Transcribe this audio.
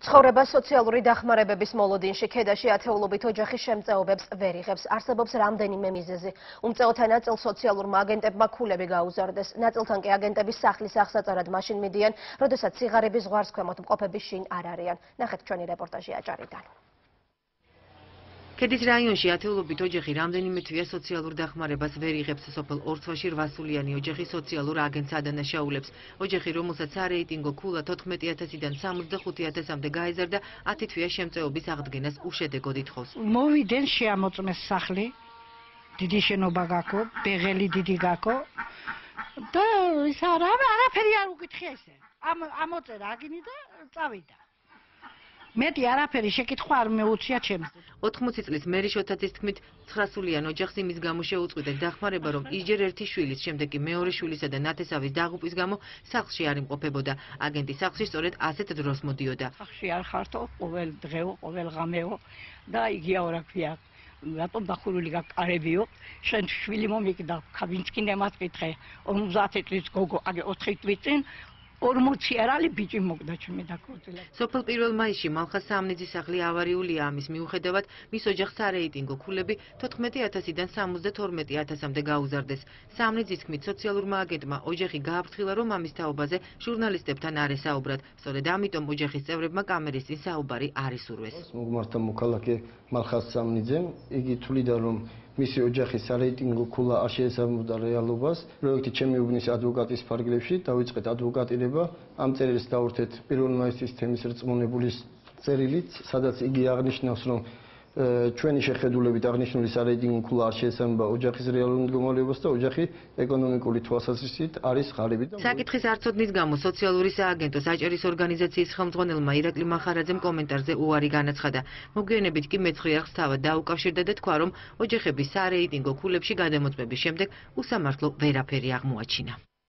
ცხოვრება სოციალური დახმარებების მოლოდინში ქედაში ათეულობით ოჯახის შემწეობებს ვერ იღებს. არსებობს რამდენიმე მიზეზი. უმწეოთა ნაწილს სოციალურმა აგენტებმა ქულები გაუზარდეს. ნაწილთან კი აგენტების სახლის აღსაწერად მაშინ მიდიან, როდესაც სიღარიბის ზღვარს ქვემოთ მყოფები შინ არ არიან. ნახეთ ჩვენი რეპორტაჟი აჭარიდან. ქედის რაიონში ათეულობით ოჯახი რამდენიმე თვეა სოციალურ დახმარებას ვერ იღებს. სოფელ ორცვაში 8 სულიანი ოჯახი სოციალურ აგენტს ადანაშაულებს. ოჯახი, რომელსაც სარეიტინგო ქულა 14,000-დან 65,000-მდე გაეზარდა, 10 თვეა შემწეობის აღდგენას უშედეგოდ ითხოვს. მოვიდნენ შეამოწმეს სახლი, დიდი შენობა გაქო, ბეღელი დიდი გაქო და ის არაფერი არ უკითხე ესე. ამოწერა აგინი და წავიდა. მეტი არაფერი შეკითხვა არ მეუწია ჩემს. 80 წლის მერი შოთაძის თქმით, 9 სულიან ოჯახს იმის გამო შეუწყვიტეს დახმარება, რომ ისჯერ ერთი შვილის, შემდეგ კი მეორე შვილისა და ნათესავის დაღუპვის გამო სახლში არ იმყოფებოდა. აგენტი სახლში სწორედ ასეთ დროს მოდიოდა. სახლში არ ხართო, ყოველ დღეო, ყოველ ღამეო და იგია რა ქვია. რატომ დახურული გაკარებიო? შენ შვილი მომიგდა, ვინც კი ნემას კითხე. 50 წლის გოგო, აგე 4 თვის წინ 40 არალი ბიჭი მოგდა ჩემი დაკოწილა. სოფელ 1 მაისში მალხას სამნიძის სახლი ავარიულია. ამის მიუხედავად, მის ოჯახს სარეიტინგო ქულები 14,000-დან 72,000-მდე გაუზარდეს. სამნიძის თქმით, სოციალურმა აგენტმა ოჯახი გააფრთხილა, რომ ამის თაობაზე ჟურნალისტებთან არ ესაუბრათ. სწორედ ამიტომ ოჯახის წევრებმა კამერის წინ საუბარი არ ისურვეს. მოგმართა მოქალაქე მალხას სამნიძემ, იგი თვლიდა, რომ მისი ოჯახის სარეიტინგო ქულა არ შეესაბამებოდა რეალობას. პროექტი ჩემი უბნის ადვოკატის ფარგლებში დავიწყეთ ადვოკატირება. ამ წერილს დავურთეთ 1 მაისის თემის რწმუნებულის წერილით, სადაც იგი აღნიშნავს, რომ ჩვენი შეხედულებით აღნიშნული სარეიტინგო ქულა არ შეესაბამება ოჯახის რეალურ მდგომარეობას და ოჯახი ეკონომიკური თვალსაზრისით არის ღარიბი. საკითხის არცოდნის გამო სოციალური სააგენტოს აჭარის ორგანიზაციის ხელმძღვანელმა ირაკლი მახარაძემ კომენტარზე უარი განაცხადა. მოგვიანებით კი მეცხრე არხს თავად დაუკავშირდა და თქვა, რომ ოჯახების სარეიტინგო ქულებში გადამოწმების შემდეგ უსამართლო ვერაფერი აღმოაჩინა.